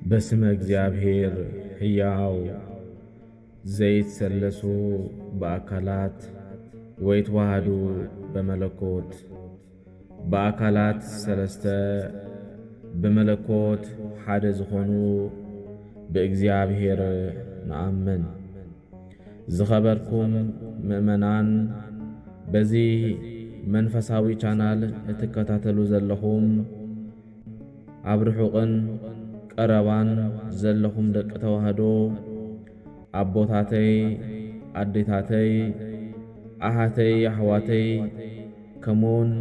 በስመ እግዚኣብሔር ሕያው ዘይትሰለሱ ብኣካላት ወይትዋሃዱ በመለኮት፣ ብኣካላት ሰለስተ ብመለኮት ሓደ ዝኾኑ ብእግዚኣብሔር ንኣምን። ዝኸበርኩም ምእመናን፣ በዚ መንፈሳዊ ቻናል እትከታተሉ ዘለኹም፣ ኣብ ርሑቕን ቀረባን ዘለኹም ደቂ ተዋህዶ፣ ኣቦታተይ፣ ኣዴታተይ፣ ኣሓተይ፣ ኣሕዋተይ፣ ከምኡውን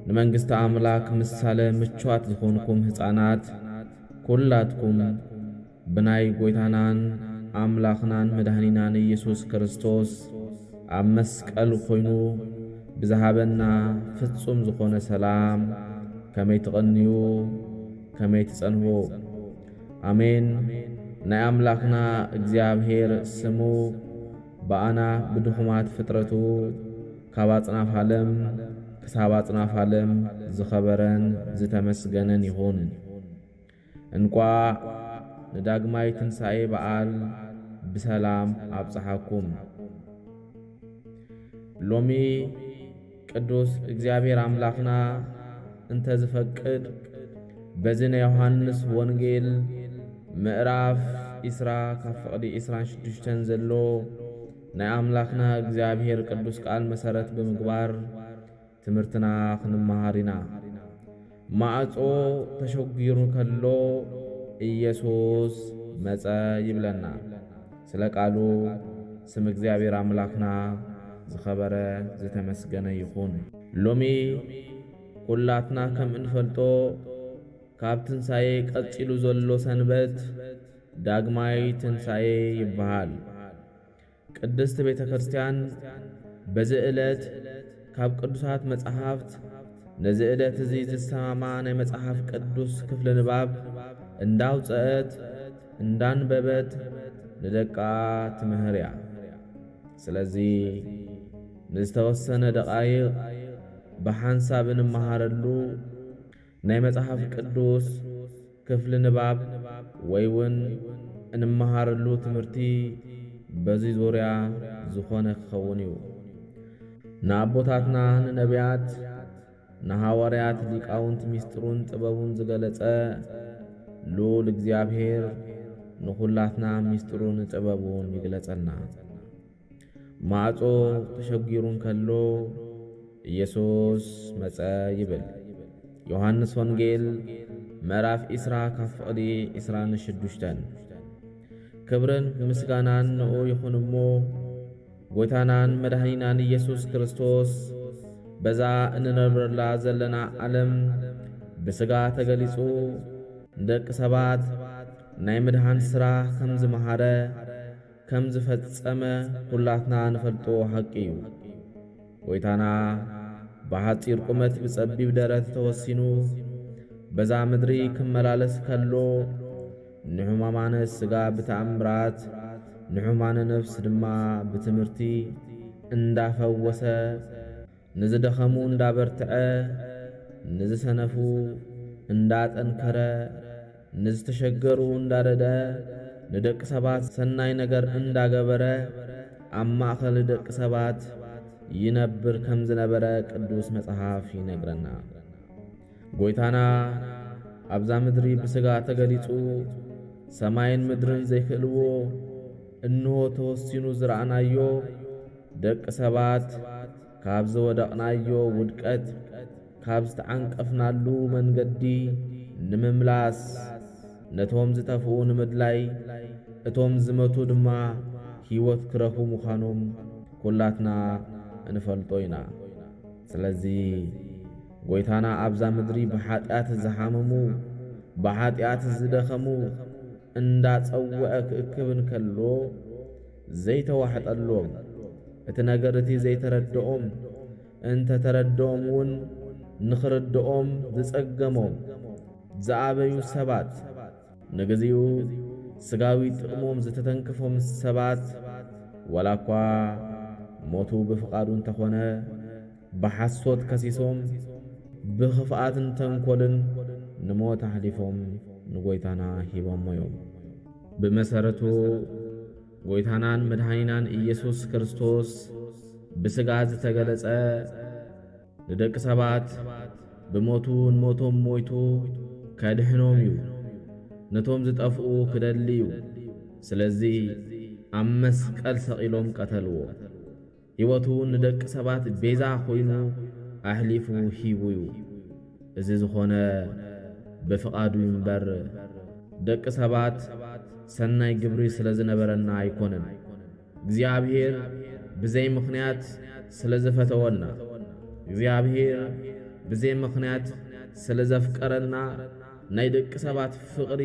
ንመንግስቲ ኣምላክ ምሳለ ምቹዋት ዝኾንኩም ህፃናት፣ ኩላትኩም ብናይ ጎይታናን ኣምላኽናን መድኃኒናን ኢየሱስ ክርስቶስ ኣብ መስቀል ኮይኑ ብዝሃበና ፍጹም ዝኾነ ሰላም ከመይ ትቐንዩ፣ ከመይ ትጸንሑ። ኣሜን። ናይ ኣምላኽና እግዚኣብሔር ስሙ ብኣና ብድኹማት ፍጥረቱ ካብ ኣጽናፍ ዓለም ክሳብ ኣጽናፍ ዓለም ዝኸበረን ዝተመስገነን ይኹን። እንቋዕ ንዳግማይ ትንሣኤ በዓል ብሰላም ኣብጽሓኩም። ሎሚ ቅዱስ እግዚኣብሔር ኣምላኽና እንተ ዝፈቅድ፣ በዚ ናይ ዮሃንስ ወንጌል ምዕራፍ ዒስራ ካብ ፍቕዲ ዒስራን ሽዱሽተን ዘሎ ናይ ኣምላኽና እግዚኣብሔር ቅዱስ ቃል መሰረት ብምግባር ትምህርትና ክንመሃር ኢና። ማዕጾ ተሸጒሩ ከሎ ኢየሱስ መጸ ይብለና። ስለ ቃሉ ስም እግዚኣብሔር ኣምላኽና ዝኸበረ ዝተመስገነ ይኹን። ሎሚ ኩላትና ከም እንፈልጦ ካብ ትንሣኤ ቀጺሉ ዘሎ ሰንበት ዳግማይ ትንሣኤ ይበሃል። ቅድስት ቤተ ክርስቲያን በዚ ዕለት ካብ ቅዱሳት መጻሕፍት ነዚ ዕለት እዚ ዝሰማማ ናይ መጽሓፍ ቅዱስ ክፍሊ ንባብ እንዳውጸአት እንዳንበበት ንደቃ ትምህር እያ። ስለዚ ንዝተወሰነ ደቓይቕ ብሓንሳብ እንመሃረሉ ናይ መጽሓፍ ቅዱስ ክፍሊ ንባብ ወይ እውን እንመሃረሉ ትምህርቲ በዚ ዙርያ ዝኾነ ክኸውን እዩ። ንኣቦታትና ንነቢያት፣ ንሃዋርያት ሊቃውንት ምስጢሩን ጥበቡን ዝገለጸ ልዑል እግዚኣብሔር ንኹላትና ምስጢሩን ጥበቡን ይግለጸልና። ማዕጾ ተሸጊሩ እንከሎ ኢየሱስ መጸ ይብል። ዮሃንስ ወንጌል ምዕራፍ ዒስራ ካብ ፍቕዲ ዒስራን ሽዱሽተን። ክብርን ምስጋናን ንኡ ይኹን እሞ፣ ጎይታናን መድኃኒናን ኢየሱስ ክርስቶስ በዛ እንነብረላ ዘለና ዓለም ብሥጋ ተገሊጹ ንደቂ ሰባት ናይ ምድኃን ሥራ ከም ዝመሃረ፣ ከም ዝፈጸመ ኩላትና ንፈልጦ ሓቂ እዩ። ጎይታና ብሓጺር ቁመት ብጸቢብ ደረት ተወሲኑ በዛ ምድሪ ክመላለስ ከሎ፣ ንሕሙማነ ሥጋ ብተኣምራት፣ ንሕሙማነ ነፍስ ድማ ብትምህርቲ እንዳፈወሰ፣ ንዝደኸሙ እንዳበርትዐ፣ ንዝሰነፉ እንዳጠንከረ፣ ንዝተሸገሩ እንዳረደ፣ ንደቂ ሰባት ሰናይ ነገር እንዳገበረ፣ ኣብ ማእከል ደቂ ሰባት ይነብር ከም ዝነበረ ቅዱስ መጽሓፍ ይነግረና። ጎይታና ኣብዛ ምድሪ ብሥጋ ተገሊጹ፣ ሰማይን ምድርን ዘይክእልዎ እንሆ ተወሲኑ ዝረኣናዮ፣ ደቂ ሰባት ካብ ዝወደቕናዮ ውድቀት ካብ ዝተዓንቀፍናሉ መንገዲ ንምምላስ፣ ነቶም ዝጠፍኡ ንምድላይ፣ እቶም ዝመቱ ድማ ሕይወት ክረኽቡ ምዃኖም ኩላትና እንፈልጦ ኢና። ስለዚ ጎይታና ኣብዛ ምድሪ ብሓጢኣት ዝሓመሙ፣ ብሓጢኣት ዝደኸሙ እንዳጸውዐ ክእክብ እንከሎ ዘይተዋሕጠሎም፣ እቲ ነገር እቲ ዘይተረድኦም፣ እንተ ተረድኦም እውን ንኽርድኦም ዝጸገሞም፣ ዝኣበዩ ሰባት፣ ንግዚኡ ስጋዊ ጥቕሞም ዝተተንከፎም ሰባት፣ ዋላ እኳ ሞቱ ብፍቓዱ እንተኾነ፣ ብሓሶት ከሲሶም፣ ብኽፍኣትን ተንኮልን ንሞት ኣሕሊፎም ንጎይታና ሂቦሞ እዮም። ብመሰረቱ ጎይታናን መድኃኒናን ኢየሱስ ክርስቶስ ብሥጋ ዝተገለጸ ንደቂ ሰባት ብሞቱ ንሞቶም ሞይቱ ከድሕኖም እዩ። ነቶም ዝጠፍኡ ክደሊ እዩ። ስለዚ ኣብ መስቀል ሰቒሎም ቀተልዎ። ሕይወቱ ንደቂ ሰባት ቤዛ ኮይኑ ኣሕሊፉ ሂቡ እዩ። እዚ ዝኾነ ብፍቓዱ እዩ እምበር፣ ደቂ ሰባት ሰናይ ግብሪ ስለ ዝነበረና ኣይኮነን። እግዚኣብሔር ብዘይ ምኽንያት ስለ ዝፈተወና፣ እግዚኣብሔር ብዘይ ምኽንያት ስለ ዘፍቀረና፣ ናይ ደቂ ሰባት ፍቕሪ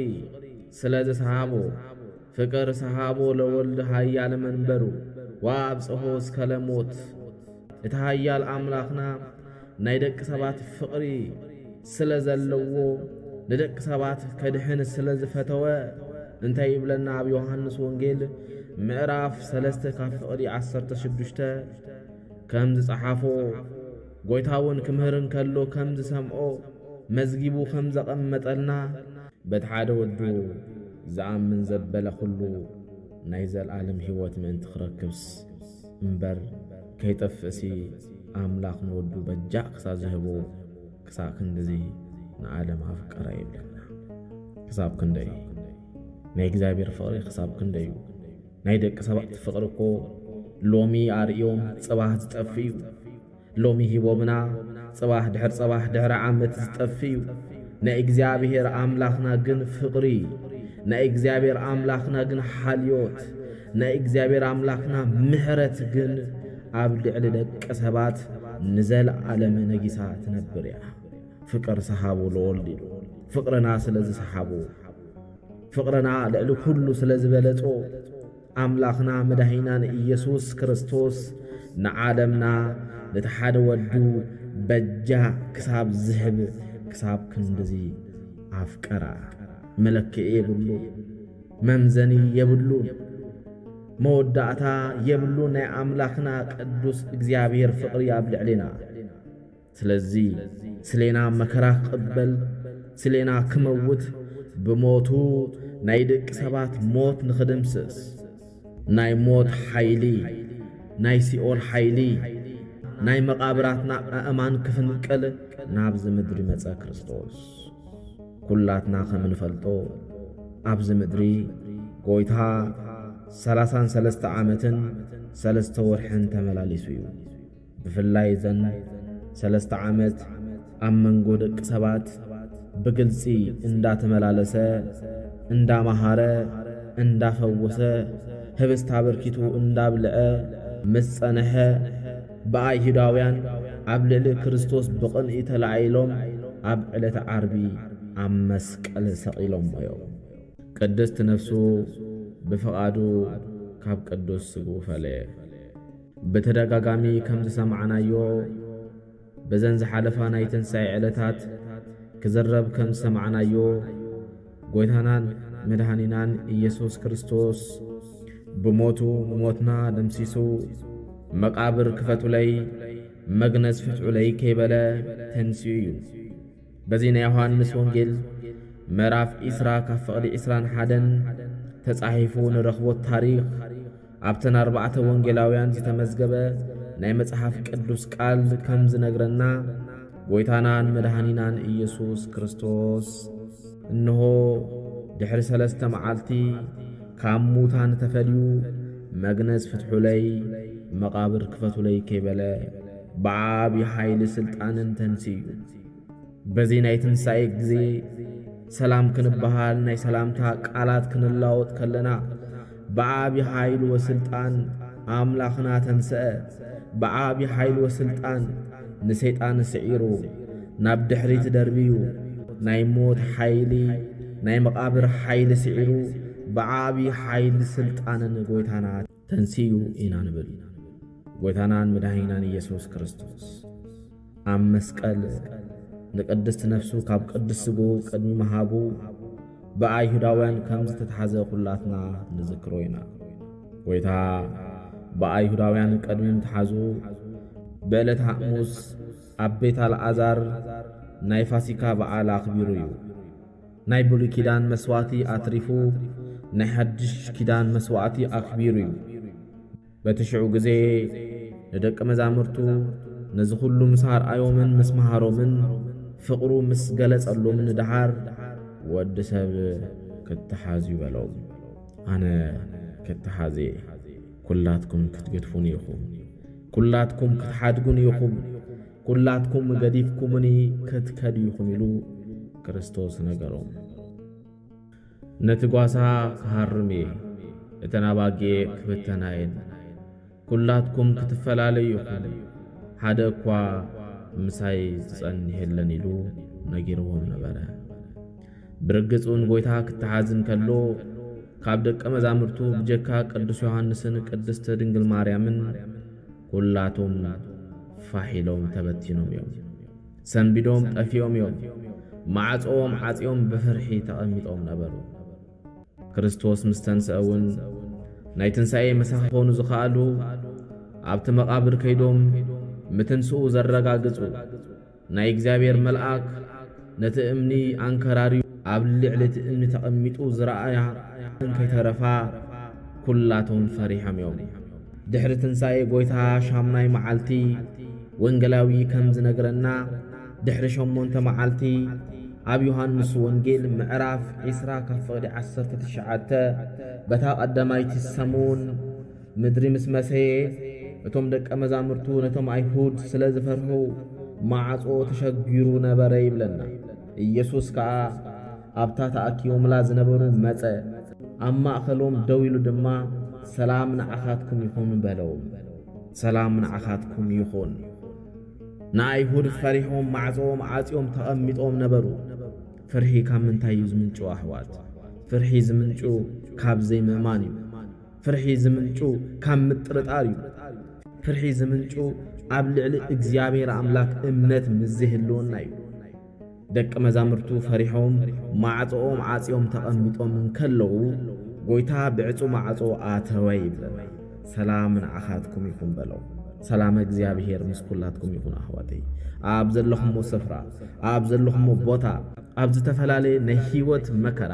ስለ ዝሰሃቦ፣ ፍቅር ሰሃቦ ለወልድ ኃያል መንበሩ ወአብጽሖ እስከ ለሞት። እቲ ኃያል ኣምላኽና ናይ ደቂ ሰባት ፍቕሪ ስለ ዘለዎ፣ ንደቂ ሰባት ከድሕን ስለ ዝፈተወ፣ እንታይ ይብለና? ኣብ ዮሃንስ ወንጌል ምዕራፍ ሠለስተ ካብ ፍቕዲ ዓሰርተ ሽዱሽተ ከም ዝጸሓፎ፣ ጎይታ እውን ክምህር እንከሎ ከም ዝሰምዖ መዝጊቡ ከም ዘቐመጠልና፣ በቲ ሓደ ወዱ ዝኣምን ዘበለ ኩሉ ናይ ዘልኣለም ሕይወት ምእንቲ ክረክብስ እምበር ከይጠፍእሲ፣ ኣምላኽ ንወዱ በጃ ክሳብ ዝህቦ፣ ክሳብ ክንድዚ ንዓለም ኣፍቀራ ይብለና። ክሳብ ክንደይ ናይ እግዚኣብሔር ፍቕሪ ክሳብ ክንደይ እዩ። ናይ ደቂ ሰባት ፍቕሪ እኮ ሎሚ ኣርእዮም ጽባህ ዝጠፍእ እዩ። ሎሚ ሂቦምና ጽባህ ድሕር ጽባህ ድሕሪ ዓመት ዝጠፍእ እዩ። ናይ እግዚኣብሔር ኣምላኽና ግን ፍቕሪ፣ ናይ እግዚኣብሔር ኣምላኽና ግን ሓልዮት፣ ናይ እግዚኣብሔር ኣምላኽና ምሕረት ግን ኣብ ልዕሊ ደቂ ሰባት ንዘለዓለም ነጊሳ ትነብር እያ። ፍቅር ሰሃቡ ለወልድ ኢሉ ፍቅርና ስለ ዝሰሓቡ፣ ፍቅርና ልዕሊ ኩሉ ስለ ዝበለጾ፣ ኣምላኽና መድኃኒናን ኢየሱስ ክርስቶስ ንዓለምና ነቲ ሓደ ወዱ በጃ ክሳብ ዝህብ ክሳብ ክንድዚ ኣፍቀራ። መለክዒ የብሉ፣ መምዘኒ የብሉ፣ መወዳእታ የብሉ። ናይ ኣምላኽና ቅዱስ እግዚኣብሔር ፍቅሪ ኣብ ልዕሌና። ስለዚ ስሌና መከራ ክቕበል፣ ስሌና ክመውት፣ ብሞቱ ናይ ደቂ ሰባት ሞት ንኽድምስስ፣ ናይ ሞት ሓይሊ፣ ናይ ሲኦል ሓይሊ፣ ናይ መቓብራትና ኣእማን ክፍንቅል ናብዚ ምድሪ መጸ ክርስቶስ። ኩላትና ከም እንፈልጦ ኣብዚ ምድሪ ጎይታ ሠላሳን ሠለስተ ዓመትን ሠለስተ ወርሕን ተመላሊሱ እዩ። ብፍላይ እዘን ሠለስተ ዓመት ኣብ መንጎ ደቂ ሰባት ብግልጺ እንዳተመላለሰ፣ እንዳመሃረ፣ እንዳፈወሰ፣ ህብስት ኣበርኪቱ እንዳብልዐ ምስ ጸንሐ፣ ብኣይሁዳውያን ኣብ ልዕሊ ክርስቶስ ብቕንኢ ተላዒሎም ኣብ ዕለተ ዓርቢ ኣብ መስቀል ሰቒሎሞ እዮም። ቅድስት ነፍሱ ብፍቓዱ ካብ ቅዱስ ስግኡ ፈለየ። ብተደጋጋሚ ከም ዝሰማዕናዮ፣ በዘን ዝሓለፋ ናይ ትንሳኤ ዕለታት ክዝረብ ከም ዝሰማዕናዮ፣ ጎይታናን መድኃኒናን ኢየሱስ ክርስቶስ ብሞቱ ንሞትና ደምሲሱ፣ መቃብር ክፈቱለይ፣ መግነዝ ፍትሑለይ ከይበለ ተንሲኡ እዩ። በዚ ናይ ዮሃንስ ወንጌል ምዕራፍ ዒስራ ካብ ፍቕዲ ዒስራን ሓደን ተጻሒፉ ንረኽቦ ታሪኽ፣ ኣብተን ኣርባዕተ ወንጌላውያን ዝተመዝገበ ናይ መጽሓፍ ቅዱስ ቃል ከም ዝነግረና፣ ጎይታናን መድኃኒናን ኢየሱስ ክርስቶስ፣ እንሆ ድሕሪ ሰለስተ መዓልቲ ካብ ሙታን ተፈልዩ፣ መግነዝ ፍትሑለይ፣ መቓብር ክፈቱለይ ከይበለ፣ ብዓቢ ሓይሊ ስልጣንን ተንስዩ። በዚ ናይ ትንሳኤ ግዜ ሰላም ክንበሃል ናይ ሰላምታ ቃላት ክንለዋወጥ ከለና፣ ብዓቢ ሓይሊ ወስልጣን ኣምላኽና ተንስአ። ብዓቢ ሓይሊ ወስልጣን ንሰይጣን ስዒሩ፣ ናብ ድሕሪት ደርብዩ፣ ናይ ሞት ሓይሊ፣ ናይ መቓብር ሓይሊ ስዒሩ፣ ብዓቢ ሓይሊ ስልጣንን ጎይታና ተንስዩ ኢና ንብል። ጎይታናን መድኃኒናን ኢየሱስ ክርስቶስ ኣብ መስቀል ንቅድስት ነፍሱ ካብ ቅዱስ ስግኡ ቅድሚ ምሃቡ ብኣይሁዳውያን ከም ዝተትሓዘ ኩላትና ንዝክሮ ኢና። ጎይታ ብኣይሁዳውያን ቅድሚ ምትሓዙ ብዕለት ሓሙስ ኣብ ቤት ኣልዓዛር ናይ ፋሲካ በዓል ኣኽቢሩ እዩ። ናይ ብሉይ ኪዳን መስዋእቲ ኣትሪፉ ናይ ሓድሽ ኪዳን መስዋእቲ ኣኽቢሩ እዩ። በቲ ሽዑ ግዜ ንደቂ መዛሙርቱ ነዚ ኩሉ ምስ ኣርኣዮምን ምስ መሃሮምን ፍቕሩ ምስ ገለጸሎምን ንደሓር፣ "ወዲ ሰብ ክተሓዝ እዩ" በሎም። ኣነ ክተሓዝ እየ፣ ኩላትኩም ክትገድፉኒ ኢኹም፣ ኩላትኩም ክትሓድጉኒ ኢኹም፣ ኩላትኩም ገዲፍኩምኒ ክትከዱ ኢኹም ኢሉ ክርስቶስ ነገሮም። ነቲ ጓሳ ክሃርም እየ፣ እተን ኣባጊዕ ክብተና እየን፣ ኩላትኩም ክትፈላለዩ ኢኹም፣ ሓደ እኳ ምሳይ ዝጸንሕ የለን ኢሉ ነጊርዎም ነበረ። ብርግጽ እውን ጎይታ ክተሓዝ እንከሎ፣ ካብ ደቀ መዛሙርቱ ብጀካ ቅዱስ ዮሃንስን ቅድስቲ ድንግል ማርያምን ኩላቶም ፋሕ ኢሎም ተበቲኖም እዮም። ሰንቢዶም ጠፊኦም እዮም። ማዕጾኦም ዓጽዮም ብፍርሒ ተቐሚጦም ነበሩ። ክርስቶስ ምስ ተንስአ እውን ናይ ትንሳኤ መሳኺ ክኾኑ ዝኸኣሉ ኣብቲ መቓብር ከይዶም ምትንስኡ ዘረጋግጹ። ናይ እግዚኣብሔር መልኣክ ነቲ እምኒ ኣንከራርዩ ኣብ ልዕሊ እቲ እምኒ ተቐሚጡ ዝረኣያ እንከይተረፋ ኩላቶም ፈሪሖም እዮም። ድሕሪ ትንሳኤ ጎይታ ሻምናይ መዓልቲ ወንጌላዊ ከም ዝነግረና፣ ድሕሪ ሸሞንተ መዓልቲ ኣብ ዮሃንስ ወንጌል ምዕራፍ ዒስራ ካብ ፍቕዲ ዓሰርተ ትሽዓተ፣ በታ ቀዳማይቲ ሰሙን ምድሪ ምስ መሰየ፣ እቶም ደቀ መዛሙርቱ ነቶም ኣይሁድ ስለ ዝፈርሑ ማዕጾ ተሸጊሩ ነበረ ይብለና። ኢየሱስ ከኣ ኣብታ ተኣኪቦምላ ዝነበሩ መጸ፣ ኣብ ማእከሎም ደው ኢሉ ድማ፣ "ሰላም ንዓኻትኩም ይኹን" በሎም። ሰላም ንዓኻትኩም ይኹን። ንኣይሁድ ፈሪሖም ማዕጾኦም ዓጽዮም ተቐሚጦም ነበሩ። ፍርሒ ካብ ምንታይ እዩ ዝምንጩ ኣሕዋት? ፍርሒ ዝምንጩ ካብ ዘይምእማን እዩ። ፍርሒ ዝምንጩ ካብ ምጥርጣር እዩ። ፍርሒ ዝምንጩ ኣብ ልዕሊ እግዚኣብሔር ኣምላክ እምነት ምስ ዘይህልወና እዩ። ደቂ መዛሙርቱ ፈሪሖም ማዕጾኦም ዓጽዮም ተቐሚጦም እንከለዉ፣ ጎይታ ብዕጹ ማዕጾ ኣተወ ይብለና። "ሰላም ንዓኻትኩም ይኹን" በሎም። ሰላም እግዚኣብሔር ምስ ኩላትኩም ይኹን ኣሕዋተይ። ኣብ ዘለኹሞ ስፍራ፣ ኣብ ዘለኹሞ ቦታ፣ ኣብ ዝተፈላለየ ናይ ህይወት መከራ፣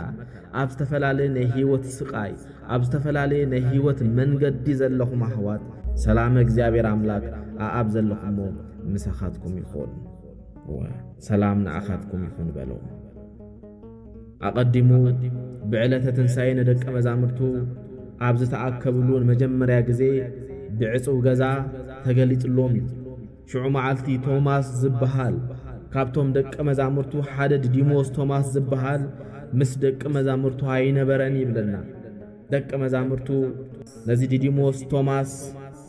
ኣብ ዝተፈላለየ ናይ ህይወት ስቓይ፣ ኣብ ዝተፈላለየ ናይ ህይወት መንገዲ ዘለኹም ኣሕዋት፣ ሰላም እግዚኣብሔር ኣምላክ ኣኣብ ዘለኹሞ ምሳኻትኩም ይኹን። እወ፣ ሰላም ንዓኻትኩም ይኹን በሎም። ኣቐዲሙ ብዕለተ ትንሳኤ ንደቀ መዛሙርቱ ኣብ ዝተኣከብሉ ንመጀመርያ ግዜ ብዕጹው ገዛ ተገሊጽሎም እዩ። ሽዑ መዓልቲ ቶማስ ዝበሃል፣ ካብቶም ደቀ መዛሙርቱ ሓደ ዲዲሞስ ቶማስ ዝበሃል ምስ ደቀ መዛሙርቱ ኣይነበረን ይብለና። ደቀ መዛሙርቱ ነዚ ዲዲሞስ ቶማስ፣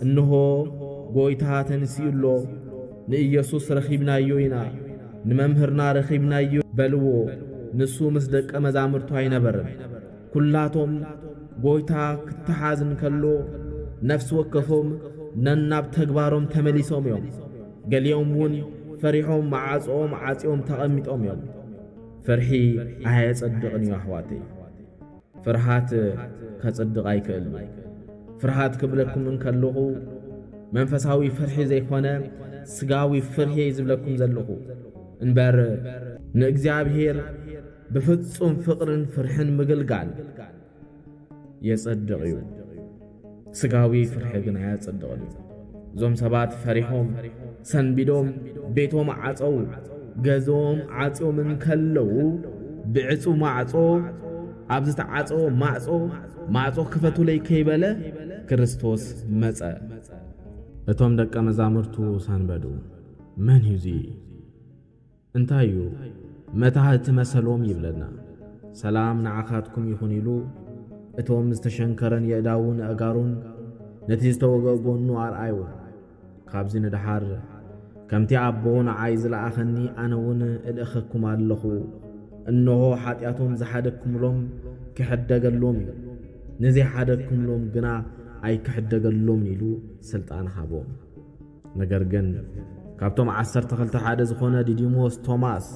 "እንሆ ጎይታ ተንሲኡ ኣሎ፣ ንኢየሱስ ረኺብናዮ ኢና፣ ንመምህርና ረኺብናዮ" በልዎ። ንሱ ምስ ደቀ መዛሙርቱ ኣይነበረን። ኩላቶም ጎይታ ክተሓዝ እንከሎ፣ ነፍሲ ወከፎም ነናብ ተግባሮም ተመሊሶም እዮም። ገሊኦም እውን ፈሪሖም መዓጽኦም ዓጽዮም ተቐሚጦም እዮም። ፍርሒ ኣየጸድቕን እዩ ኣሕዋተይ። ፍርሃት ከጽድቕ ኣይክእልን። ፍርሃት ክብለኩም እንከለኹ መንፈሳዊ ፍርሒ ዘይኮነ ስጋዊ ፍርሒ እየ ዝብለኩም ዘለኹ። እምበር ንእግዚኣብሔር ብፍጹም ፍቕርን ፍርሕን ምግልጋል የጸድቕ እዩ። ስጋዊ ፍርሒ ግን ኣየጸድቕን እዩ። እዞም ሰባት ፈሪሖም፣ ሰንቢዶም፣ ቤቶም ዓጸው፣ ገዝኦም ዓጽዮም እንከለዉ፣ ብዕጹ ማዕጾ፣ ኣብ ዝተዓጸወ ማዕጾ፣ "ማዕጾ ክፈቱለይ" ከይበለ ክርስቶስ መጸ። እቶም ደቀ መዛሙርቱ ሰንበዱ። "መን እዩ እዚ?" እንታይ እዩ መታህቲ መሰሎም ይብለና። "ሰላም ንዓኻትኩም ይኹን" ኢሉ እቶም ዝተሸንከረን የእዳውን ኣእጋሩን ነቲ ዝተወግአ ጎኑ ኣርኣይዎ። ካብዚ ንደሓር ከምቲ ኣቦ ንዓይ ዝለኣኸኒ ኣነ እውን እልእኸኩም ኣለኹ። እንሆ ሓጢኣቶም ዝሓደግኩምሎም ክሕደገሎም እዩ፣ ንዘይሓደግኩምሎም ግና ኣይክሕደገሎምን ኢሉ ስልጣን ሃቦም። ነገር ግን ካብቶም ዓሰርተ ክልተ ሓደ ዝኾነ ዲዲሞስ ቶማስ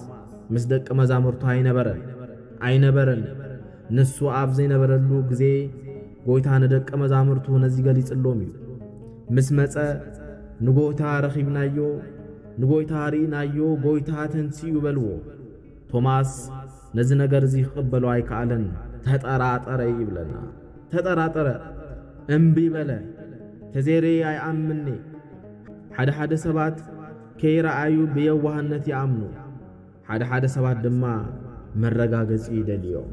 ምስ ደቂ መዛሙርቱ ኣይነበረን፣ ኣይነበረን። ንሱ ኣብ ዘይነበረሉ ግዜ ጎይታ ንደቂ መዛሙርቱ ነዚ ገሊጽሎም እዩ። ምስ መጸ፣ "ንጎይታ ረኺብናዮ፣ ንጎይታ ርኢናዮ፣ ጎይታ ተንሲኡ" በልዎ። ቶማስ ነዚ ነገር እዚ ክቕበሎ ኣይከኣለን። ተጠራጠረ ይብለና። ተጠራጠረ፣ እምቢ በለ። ተዘይርእየ ኣይኣምንኔ። ሓደ ሓደ ሰባት ከይረኣዩ ብየዋህነት ይኣምኑ። ሓደ ሓደ ሰባት ድማ መረጋገጺ ይደልዩ እዮም።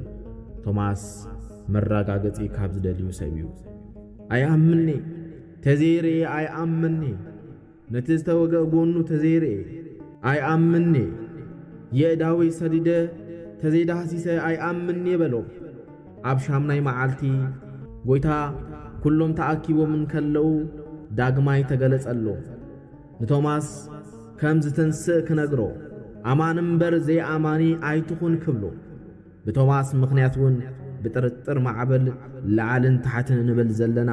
ቶማስ መረጋገጺ ካብ ዝደልዩ ሰብ እዩ። ኣይኣምንኔ። ተዘይርእየ ኣይኣምንኔ። ነቲ ዝተወግአ ጎኑ ተዘይርእየ ኣይኣምንኔ። የእዳወይ ሰዲደ ተዘይዳህሲሰ ኣይኣምንኔ በሎም። ኣብ ሻምናይ መዓልቲ ጎይታ ኩሎም ተኣኪቦም እንከለዉ ዳግማይ ተገለጸሎም። ንቶማስ ከም ዝትንስእ ክነግሮ፣ ኣማኒ እምበር ዘይኣማኒ ኣይትኹን ክብሎ። ብቶማስ ምኽንያት እውን ብጥርጥር ማዕበል ላዕልን ታሕትን እንብል ዘለና፣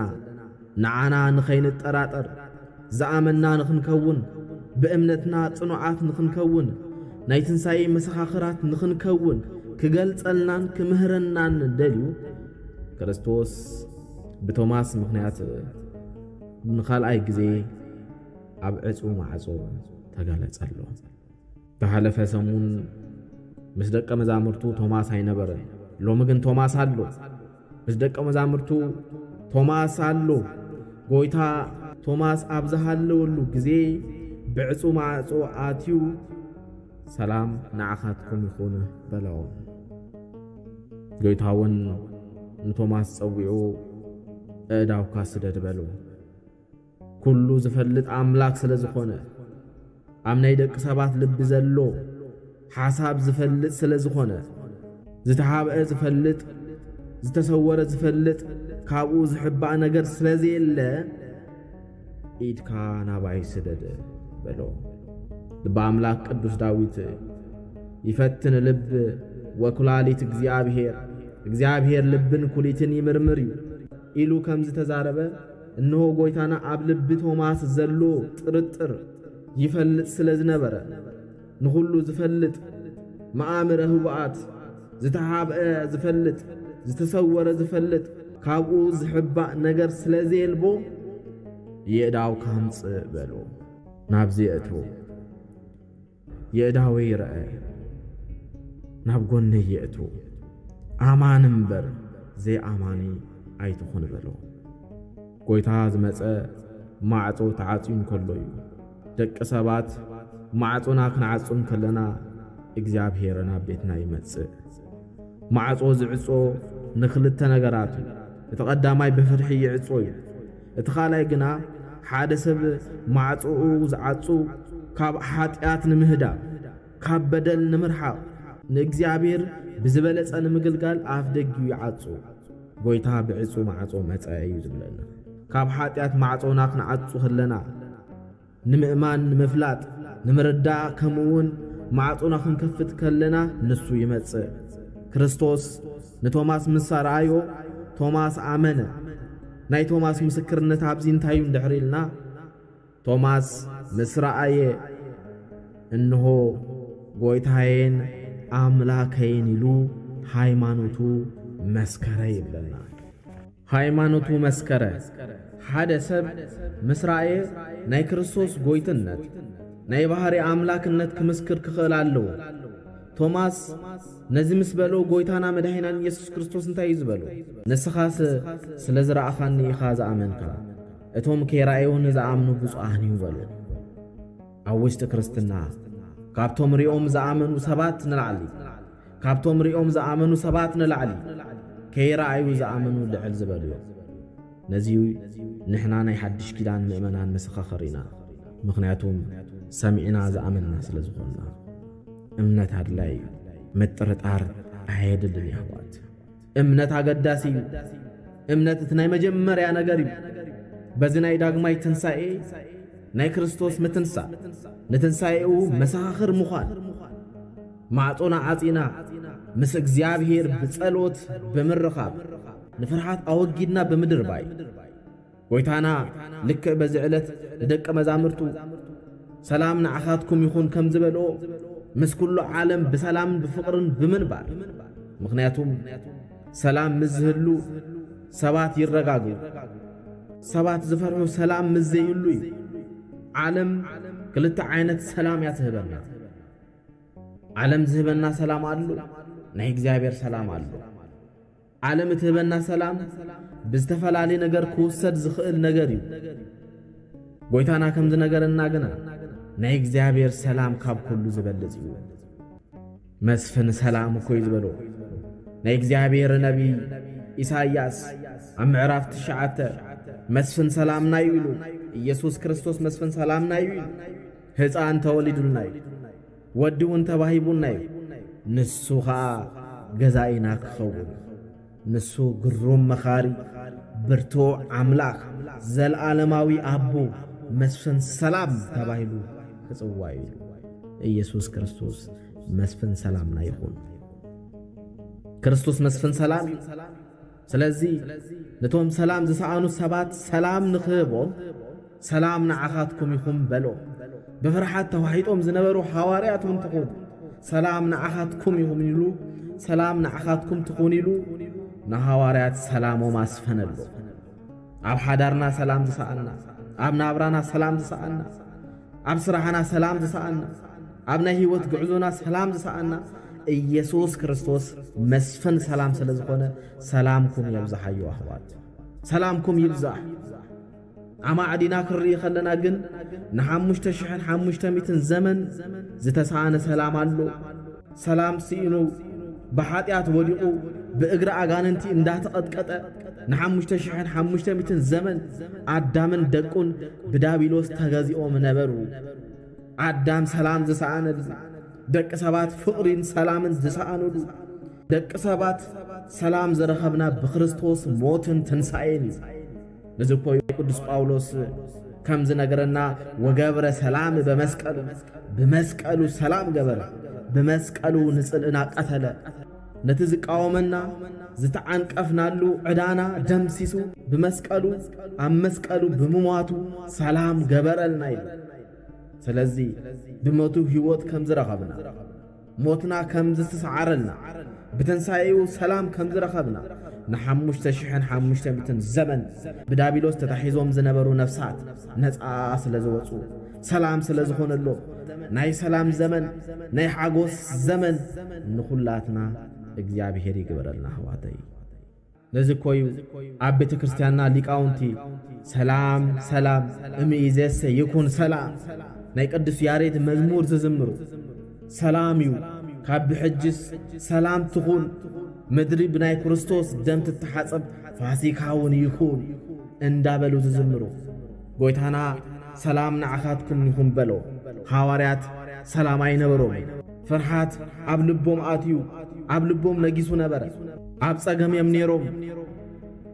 ንዓና ንኸይንጠራጠር፣ ዝኣመንና ንኽንከውን፣ ብእምነትና ጽኑዓት ንኽንከውን፣ ናይ ትንሳኤ መሰኻኽራት ንኽንከውን ክገልጸልናን ክምህረናን ደልዩ፣ ክርስቶስ ብቶማስ ምኽንያት ንኻልኣይ ግዜ ኣብ ዕጹ ማዕጾ ተገለጸሉ። ዝሓለፈ ሰሙን ምስ ደቀ መዛሙርቱ ቶማስ ኣይነበረን። ሎሚ ግን ቶማስ ኣሎ። ምስ ደቀ መዛሙርቱ ቶማስ ኣሎ። ጎይታ ቶማስ ኣብ ዝሃለወሉ ግዜ ብዕጹ ማዕጾ ኣትዩ፣ "ሰላም ንዓኻትኩም ይኹን" በሎም። ጎይታ እውን ንቶማስ ጸዊዑ፣ "ኣእዳውካ ስደድ" በሎ። ኩሉ ዝፈልጥ ኣምላኽ ስለ ዝኾነ፣ ኣብ ናይ ደቂ ሰባት ልቢ ዘሎ ሓሳብ ዝፈልጥ ስለ ዝኾነ፣ ዝተሓብአ ዝፈልጥ፣ ዝተሰወረ ዝፈልጥ፣ ካብኡ ዝሕባእ ነገር ስለ ዘየለ፣ "ኢድካ ናባይ ስደድ" በሎ። ልቢ ኣምላኽ ቅዱስ ዳዊት፣ "ይፈትን ልብ ወኩላሊት እግዚኣብሔር፣ እግዚኣብሔር ልብን ኩሊትን ይምርምር እዩ" ኢሉ ከም ዝተዛረበ፣ እንሆ ጎይታና ኣብ ልቢ ቶማስ ዘሎ ጥርጥር ይፈልጥ ስለ ዝነበረ፣ ንኹሉ ዝፈልጥ፣ መኣምረ ህቡኣት፣ ዝተሓብአ ዝፈልጥ፣ ዝተሰወረ ዝፈልጥ፣ ካብኡ ዝሕባእ ነገር ስለ ዘየልቦ፣ "የእዳውካ ኣምጽእ" በሎ። ናብዚ የእትዎ። የእዳወይ ይርአ፣ ናብ ጎነይ የእትዎ። ኣማኒ እምበር ዘይኣማኒ ኣይትኹን በሎ። ጎይታ ዝመጸ ማዕጾ ተዓጽዩ እንከሎ እዩ። ደቂ ሰባት ማዕጾና ክንዓጹ እንከለና እግዚኣብሔር ናብ ቤትና ይመጽእ። ማዕጾ ዝዕጾ ንኽልተ ነገራት እዩ። እቲ ቀዳማይ ብፍርሒ ይዕጾ እዩ። እቲ ካልኣይ ግና ሓደ ሰብ ማዕጾኡ ዝዓጹ ካብ ሓጢኣት ንምህዳም፣ ካብ በደል ንምርሓቕ፣ ንእግዚኣብሔር ብዝበለጸ ንምግልጋል ኣፍ ደጊኡ ይዓጹ። ጎይታ ብዕጹ ማዕጾ መጸ እዩ ዝብለና። ካብ ሓጢኣት ማዕጾና ክንዓጹ ከለና፣ ንምእማን፣ ንምፍላጥ፣ ንምርዳእ፣ ከምኡ እውን ማዕጾና ክንከፍት ከለና ንሱ ይመጽእ። ክርስቶስ ንቶማስ ምስ ኣርኣዮ፣ ቶማስ ኣመነ። ናይ ቶማስ ምስክርነት ኣብዚ እንታይ እዩ እንድሕር ኢልና፣ ቶማስ ምስ ረኣየ፣ "እንሆ ጎይታዬን ኣምላኸይን" ኢሉ ሃይማኖቱ መስከረ ይብለና። ሃይማኖቱ መስከረ። ሓደ ሰብ ምስ ረኣየ ናይ ክርስቶስ ጎይትነት፣ ናይ ባህሪ ኣምላክነት ክምስክር ክኽእል ኣለዎ። ቶማስ ነዚ ምስ በሎ፣ ጎይታና መድኃኒናን ኢየሱስ ክርስቶስ እንታይ እዩ ዝበሎ? "ንስኻስ ስለ ዝረኣኻኒ ኢኻ ዝኣመንካ፣ እቶም ከይረኣዩ ንዝኣምኑ ብፁዓን እዩ" በሎ። ኣብ ውሽጢ ክርስትና ካብቶም ሪኦም ዝኣመኑ ሰባት ንላዕሊ፣ ካብቶም ሪኦም ዝኣመኑ ሰባት ንላዕሊ ከይረኣዩ ዝኣመኑ ልዕል ዝበሉ እዮም። ነዚ ንሕና ናይ ሓድሽ ኪዳን ምእመናን መሰኻኽር ኢና። ምኽንያቱም ሰሚዕና ዝኣመንና ስለ ዝኾንና። እምነት ኣድላይ እዩ። ምጥርጣር ኣየድልን የሕዋት። እምነት ኣገዳሲ እዩ። እምነት እቲ ናይ መጀመርያ ነገር እዩ። በዚ ናይ ዳግማይ ትንሳኤ ናይ ክርስቶስ ምትንሳእ፣ ንትንሳኤኡ መሰኻኽር ምዃን፣ ማዕጾና ዓጺና ምስ እግዚኣብሔር ብጸሎት ብምርኻብ፣ ንፍርሃት ኣወጊድና ብምድርባይ፣ ጎይታና ልክዕ በዚ ዕለት ንደቀ መዛሙርቱ፣ "ሰላም ንዓኻትኩም ይኹን" ከም ዝበልኦ፣ ምስ ኩሉ ዓለም ብሰላምን ብፍቕርን ብምንባር። ምኽንያቱም ሰላም ምስ ዝህሉ ሰባት ይረጋግኡ። ሰባት ዝፈርሑ ሰላም ምስ ዘይህሉ እዩ። ዓለም ክልተ ዓይነት ሰላም እያ ትህበና። ዓለም ዝህበና ሰላም ኣሎ፣ ናይ እግዚኣብሔር ሰላም ኣሎ። ዓለም እትህበና ሰላም ብዝተፈላለየ ነገር ክውሰድ ዝኽእል ነገር እዩ። ጎይታና ከም ዝነገረና ግና፣ ናይ እግዚኣብሔር ሰላም ካብ ኩሉ ዝበልጽ እዩ። መስፍን ሰላም እኮ እዩ ዝበሎ ናይ እግዚኣብሔር ነቢይ ኢሳይያስ ኣብ ምዕራፍ ትሽዓተ። መስፍን ሰላምና እዩ ኢሉ። ኢየሱስ ክርስቶስ መስፍን ሰላምና እዩ ኢሉ። ህፃን ተወሊዱልና እዩ። ወዲ እውን ተባሂቡና እዩ። ንሱ ኸዓ ገዛኢና ክኸውን፣ ንሱ ግሩም መኻሪ፣ ብርቱዕ ኣምላኽ፣ ዘለዓለማዊ ኣቦ፣ መስፍን ሰላም ተባሂሉ ክጽዋዕ እዩ። ኢየሱስ ክርስቶስ መስፍን ሰላምና ይኹን። ክርስቶስ መስፍን ሰላም እዩ። ስለዚ ነቶም ሰላም ዝሰኣኑ ሰባት ሰላም ንኽህቦም፣ "ሰላም ንዓኻትኩም ይኹን" በሎ። ብፍርሓት ተዋሒጦም ዝነበሩ ሃዋርያት እውን ተኾኑ። "ሰላም ንዓኻትኩም ይኹን" ኢሉ፣ "ሰላም ንዓኻትኩም ትኹን" ኢሉ ንሃዋርያት ሰላሞም ኣስፈነሉ። ኣብ ሓዳርና ሰላም ዝሰኣና፣ ኣብ ናብራና ሰላም ዝሰኣና፣ ኣብ ስራሕና ሰላም ዝሰኣና፣ ኣብ ናይ ህይወት ጉዕዞና ሰላም ዝሰኣና፣ ኢየሱስ ክርስቶስ መስፍን ሰላም ስለ ዝኾነ፣ ሰላምኩም የብዝሓዮ ኣሕዋት። ሰላምኩም ይብዛሕ። ኣማዕዲና ክንርኢ ከለና ግን፣ ንሓሙሽተ ሽሕን ሓሙሽተ ሚእትን ዘመን ዝተሳእነ ሰላም ኣሎ። ሰላም ስኢኑ፣ ብሓጢኣት ወዲቑ፣ ብእግሪ ኣጋንንቲ እንዳተቐጥቀጠ፣ ንሓሙሽተ ሽሕን ሓሙሽተ ሚእትን ዘመን ኣዳምን ደቁን ብዳቢሎስ ተገዚኦም ነበሩ። ኣዳም ሰላም ዝሰኣነሉ፣ ደቂ ሰባት ፍቕሪን ሰላምን ዝሰኣኑሉ፣ ደቂ ሰባት ሰላም ዝረኸብና ብክርስቶስ ሞትን ትንሳኤን እዩ። ነዚ እኮ እዩ ቅዱስ ጳውሎስ ከም ዝነገረና፣ "ወገብረ ሰላም በመስቀሉ"፣ ብመስቀሉ ሰላም ገበረ፣ ብመስቀሉ ንጽልእና ቀተለ። ነቲ ዝቃወመና ዝተዓንቀፍናሉ ዕዳና ደምሲሱ፣ ብመስቀሉ፣ ኣብ መስቀሉ ብምሟቱ ሰላም ገበረልና ኢሉ። ስለዚ ብሞቱ ህይወት ከም ዝረኸብና፣ ሞትና ከም ዝተሰዓረልና፣ ብትንሳኤኡ ሰላም ከም ዝረኸብና፣ ንሓሙሽተ ሽሕን ሓሙሽተ ሚእትን ዘመን ብዳቢሎስ ተታሒዞም ዝነበሩ ነፍሳት ነጻ ስለ ዝወጹ፣ ሰላም ስለ ዝኾነሎም፣ ናይ ሰላም ዘመን፣ ናይ ሓጎስ ዘመን ንኹላትና እግዚኣብሔር ይግበረልና ኣሕዋተይ። ነዚ እኮ እዩ ኣብ ቤተ ክርስቲያንና ሊቃውንቲ "ሰላም ሰላም እምይእዜሰ ይኩን ሰላም"፣ ናይ ቅዱስ ያሬድ መዝሙር ዝዝምሩ። "ሰላም እዩ ካብ ብሕጅስ ሰላም ትኹን፣ ምድሪ ብናይ ክርስቶስ ደም ትተሓጸብ፣ ፋሲካ እውን ይኹን" እንዳበሉ ዝዝምሩ። ጎይታና "ሰላም ንዓኻትኩም ይኹን" በሎ። ሃዋርያት ሰላም ኣይነበሮም። ፍርሃት ኣብ ልቦም ኣትዩ፣ ኣብ ልቦም ነጊሱ ነበረ። ኣብ ጸገም እዮም ነይሮም፣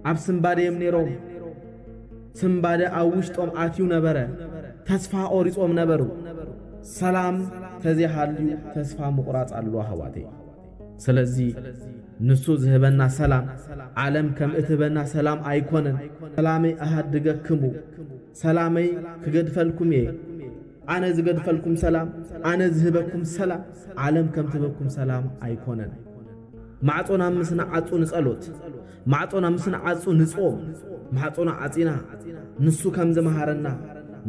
ኣብ ስንባደ እዮም ነይሮም። ስንባደ ኣብ ውሽጦም ኣትዩ ነበረ። ተስፋ ቆሪጾም ነበሩ። ሰላም ተዘይሃልዩ ተስፋ ምቑራጽ ኣሎ ኣሕዋተይ። ስለዚ ንሱ ዝህበና ሰላም፣ ዓለም ከም እትህበና ሰላም ኣይኮነን። "ሰላመይ ኣሃድገክሙ፣ ሰላመይ ክገድፈልኩም እየ። ኣነ ዝገድፈልኩም ሰላም፣ ኣነ ዝህበኩም ሰላም፣ ዓለም ከም ትህበኩም ሰላም ኣይኮነን።" ማዕጾና ምስ ንዓጹ ንጸሎት፣ ማዕጾና ምስ ንዓጹ ንጾም፣ ማዕጾና ዓጺና ንሱ ከም ዝመሃረና፣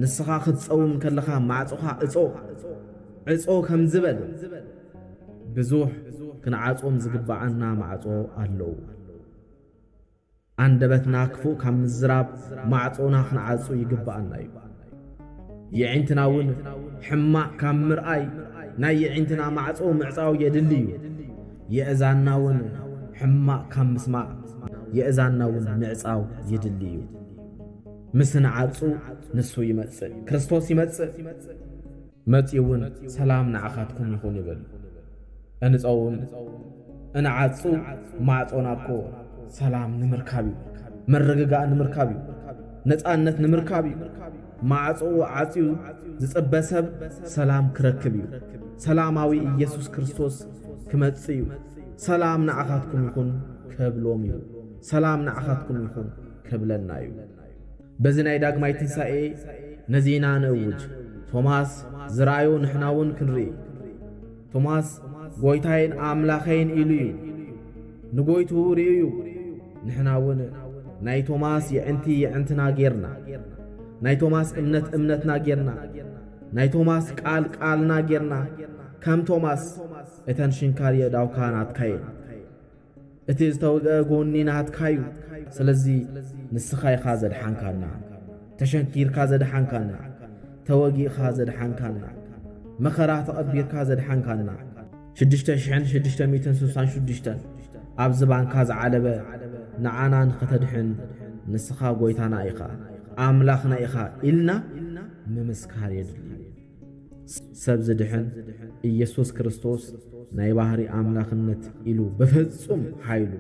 "ንስኻ ክትጸውም ከለኻ ማዕጾኻ እጾ፣ ዕጾ" ከም ዝበል፣ ብዙሕ ክንዓጾም ዝግብኣና ማዕጾ ኣለዉ። ኣንደበትና ክፉእ ካብ ምዝራብ ማዕጾና ክንዓጹ ይግብኣና እዩ። የዒንትና እውን ሕማቕ ካብ ምርኣይ ናይ የዒንትና ማዕጾ ምዕጻው የድሊ እዩ። የእዛንና እውን ሕማቕ ካብ ምስማዕ የእዛንና እውን ምዕጻው የድሊ እዩ። ምስ ንዓጹ ንሱ ይመጽእ፣ ክርስቶስ ይመጽእ። መጺኡ እውን "ሰላም ንዓኻትኩም ይኹን" ይብል። እንጸውም፣ እንዓጹ ማዕጾና እኮ ሰላም ንምርካብ እዩ፣ ምርግጋእ ንምርካብ እዩ፣ ነጻነት ንምርካብ እዩ። ማዕጾኡ ዓጽዩ ዝጽበ ሰብ ሰላም ክረክብ እዩ። ሰላማዊ ኢየሱስ ክርስቶስ ክመጽእ እዩ። "ሰላም ንዓኻትኩም ይኹን" ክብሎም እዩ። "ሰላም ንዓኻትኩም ይኹን" ክብለና እዩ። በዚ ናይ ዳግማይ ትንሳኤ ነዚ ኢና ንእውጅ። ቶማስ ዝረኣዮ ንሕና እውን ክንርኢ። ቶማስ "ጎይታዬን ኣምላኸይን" ኢሉ እዩ። ንጎይትኡ ርእዩ እዩ። ንሕና እውን ናይ ቶማስ የዕንቲ የዕንትና ጌርና፣ ናይ ቶማስ እምነት እምነትና ጌርና፣ ናይ ቶማስ ቃል ቃልና ጌርና፣ ከም ቶማስ እተን ሽንካር የእዳውካ ናትካ እየን። እቲ ዝተወግአ ጎኒ ናትካ እዩ። ስለዚ ንስኻ ኢኻ ዘድሓንካና፣ ተሸንኪርካ ዘድሓንካና፣ ተወጊእካ ዘድሓንካና፣ መኸራ ተቐቢርካ ዘድሓንካና፣ ሽዱሽተ ሽሕን ሽዱሽተ ሚእትን ስሳን ሽዱሽተን ኣብ ዝባንካ ዝዓለበ ንዓና ንኸተድሕን ንስኻ ጎይታና ኢኻ፣ ኣምላኽና ኢኻ ኢልና ምምስካር የድሊ እዩ። ሰብ ዝድሕን ኢየሱስ ክርስቶስ ናይ ባህሪ ኣምላኽነት ኢሉ ብፍጹም ሓይሉ፣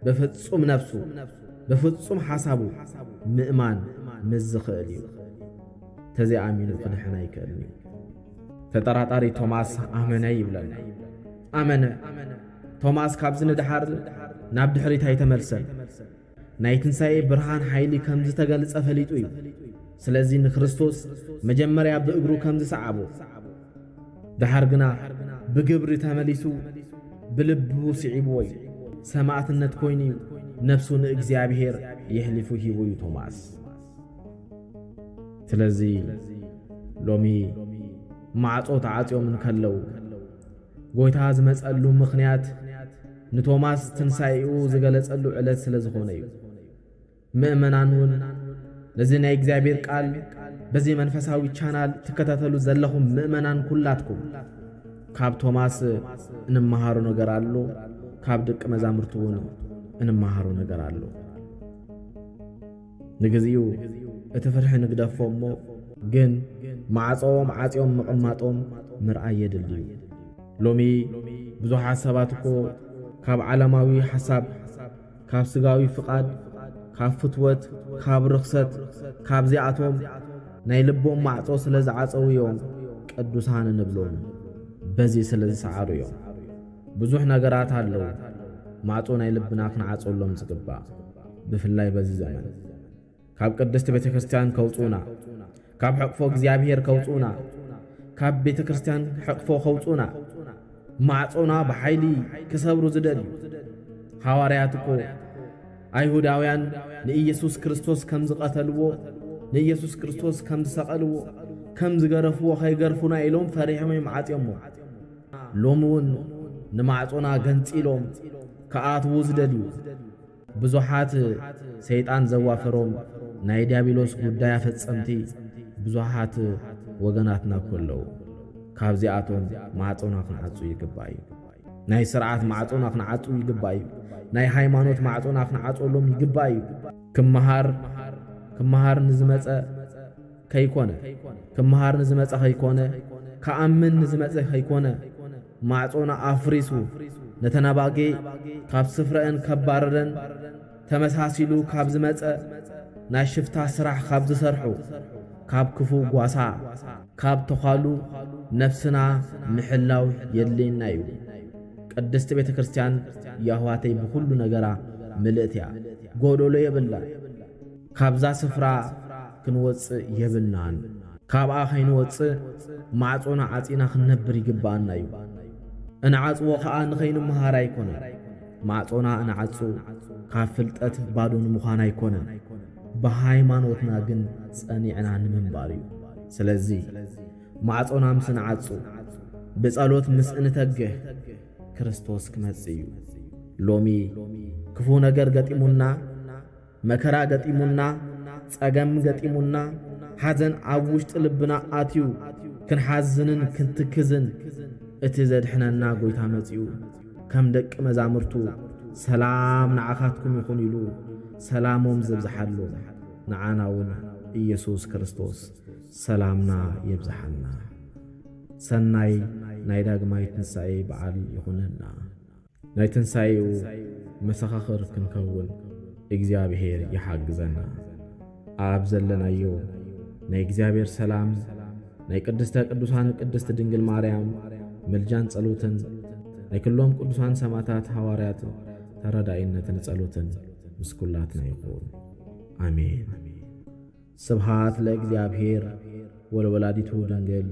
ብፍጹም ነፍሱ፣ ብፍጹም ሓሳቡ ምእማን ምስ ዝኽእል እዩ። ተዘይኣሚኑ ክድሕን ኣይክእልን እዩ። ተጠራጣሪ ቶማስ ኣመነ ይብለና። ኣመነ። ቶማስ ካብዚ ንደሓር ናብ ድሕሪት ኣይተመልሰን። ናይ ትንሳኤ ብርሃን ሓይሊ ከም ዝተገልጸ ፈሊጡ እዩ። ስለዚ ንክርስቶስ መጀመርያ ብእግሩ ከም ዝሰዓቦ፣ ደሓር ግና ብግብሪ ተመሊሱ ብልቡ ስዒብዎ እዩ። ሰማዕትነት ኮይኑ እዩ ነፍሱ ንእግዚኣብሔር የሕሊፉ ሂቡ እዩ ቶማስ። ስለዚ ሎሚ ማዕጾ ተዓጽዮም እንከለዉ፣ ጎይታ ዝመጸሉ ምኽንያት ንቶማስ ትንሳኤኡ ዝገለጸሉ ዕለት ስለ ዝኾነ እዩ። ምእመናን እውን ነዚ ናይ እግዚኣብሔር ቃል በዚ መንፈሳዊ ቻናል ትከታተሉ ዘለኹም ምእመናን ኩላትኩም፣ ካብ ቶማስ እንመሃሮ ነገር ኣሎ፣ ካብ ደቂ መዛሙርቱ እውን እንመሃሮ ነገር ኣሎ። ንግዚኡ እቲ ፍርሒ ንግደፎ እሞ፣ ግን ማዕጾኦም ዓጽዮም ምቕማጦም ምርኣይ የድሊ እዩ። ሎሚ ብዙሓት ሰባት እኮ ካብ ዓለማዊ ሓሳብ፣ ካብ ስጋዊ ፍቓድ፣ ካብ ፍትወት፣ ካብ ርኽሰት፣ ካብዚኣቶም ናይ ልቦም ማዕጾ ስለ ዝዓጸዉ እዮም ቅዱሳን እንብሎም። በዚ ስለ ዝሰዓሩ እዮም። ብዙሕ ነገራት ኣለዉ ማዕጾ ናይ ልብና ክንዓጸሎም ዝግባእ፣ ብፍላይ በዚ ዘመን። ካብ ቅድስቲ ቤተ ክርስቲያን ከውጽኡና፣ ካብ ሕቕፎ እግዚኣብሔር ከውጽኡና፣ ካብ ቤተ ክርስቲያን ሕቕፎ ከውጽኡና፣ ማዕጾና ብሓይሊ ክሰብሩ ዝደልዩ ሃዋርያት እኮ ኣይሁዳውያን ንኢየሱስ ክርስቶስ ከም ዝቐተልዎ፣ ንኢየሱስ ክርስቶስ ከም ዝሰቐልዎ፣ ከም ዝገረፍዎ፣ ከይገርፉና ኢሎም ፈሪሖም እዮም ዓጽዮሞ። ሎሚ እውን ንማዕጾና ገንጺሎም ክኣትዉ ዝደልዩ ብዙሓት ሰይጣን ዘዋፈሮም ናይ ዲያብሎስ ጉዳይ ኣፈጸምቲ ብዙሓት ወገናትና እኮ ኣለዉ። ካብዚኣቶም ማዕጾና ክንዓጹ ይግባእ እዩ። ናይ ስርዓት ማዕጾና ክንዓጹ ይግባእ እዩ። ናይ ሃይማኖት ማዕጾና ክንዓጸሎም ይግባእ እዩ። ክመሃር፣ ክመሃር ንዝመጸ ከይኮነ፣ ክመሃር ንዝመጸ ከይኮነ፣ ክኣምን ንዝመጸ ከይኮነ፣ ማዕጾና ኣፍሪሱ፣ ነተን ኣባጊዕ ካብ ስፍረአን ከባረረን፣ ተመሳሲሉ ካብ ዝመጸ፣ ናይ ሽፍታ ስራሕ ካብ ዝሰርሑ፣ ካብ ክፉእ ጓሳ፣ ካብ ተዃሉ ነፍስና ምሕላው የድልየና እዩ። ቅድስቲ ቤተ ክርስቲያን የሕዋተይ ብኹሉ ነገራ ምልእቲ እያ። ጎደሎ የብላን። ካብዛ ስፍራ ክንወጽእ የብልናን። ካብኣ ከይንወጽእ ማዕጾና ዓጺና ክንነብር ይግብኣና እዩ። እንዓጽዎ ኸኣ ንኸይንመሃር ኣይኮነን። ማዕጾና እንዓጹ ካብ ፍልጠት ባዶ ንምዃን ኣይኮነን። ብሃይማኖትና ግን ጸኒዕና ንምንባር እዩ። ስለዚ ማዕጾና ምስ እንዓጹ፣ ብጸሎት ምስ እንተግህ፣ ክርስቶስ ክመጽእ እዩ። ሎሚ ክፉ ነገር ገጢሙና፣ መከራ ገጢሙና፣ ጸገም ገጢሙና፣ ሓዘን ኣብ ውሽጢ ልብና ኣትዩ፣ ክንሓዝንን ክንትክዝን፣ እቲ ዘድሕነና ጎይታ መጺኡ፣ ከም ደቂ መዛሙርቱ፣ "ሰላም ንዓኻትኩም ይኹን" ኢሉ ሰላሞም ዘብዝሓሎም፣ ንዓና እውን ኢየሱስ ክርስቶስ ሰላምና የብዝሓልና። ሰናይ ናይ ዳግማይ ትንሳኤ በዓል ይኹነልና። ናይ ትንሳኤኡ መሰኻኽር ክንከውን እግዚኣብሔር ይሓግዘና። ኣብ ዘለናዮ ናይ እግዚኣብሔር ሰላም፣ ናይ ቅድስተ ቅዱሳን ቅድስት ድንግል ማርያም ምልጃን ጸሎትን፣ ናይ ኩሎም ቅዱሳን ሰማዕታት ሃዋርያት ተረዳኢነትን ጸሎትን ምስ ኩላትና ይኹን። ኣሜን። ስብሃት ለእግዚኣብሔር ወለወላዲቱ ድንግል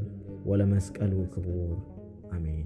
ወለመስቀሉ ክቡር። ኣሜን።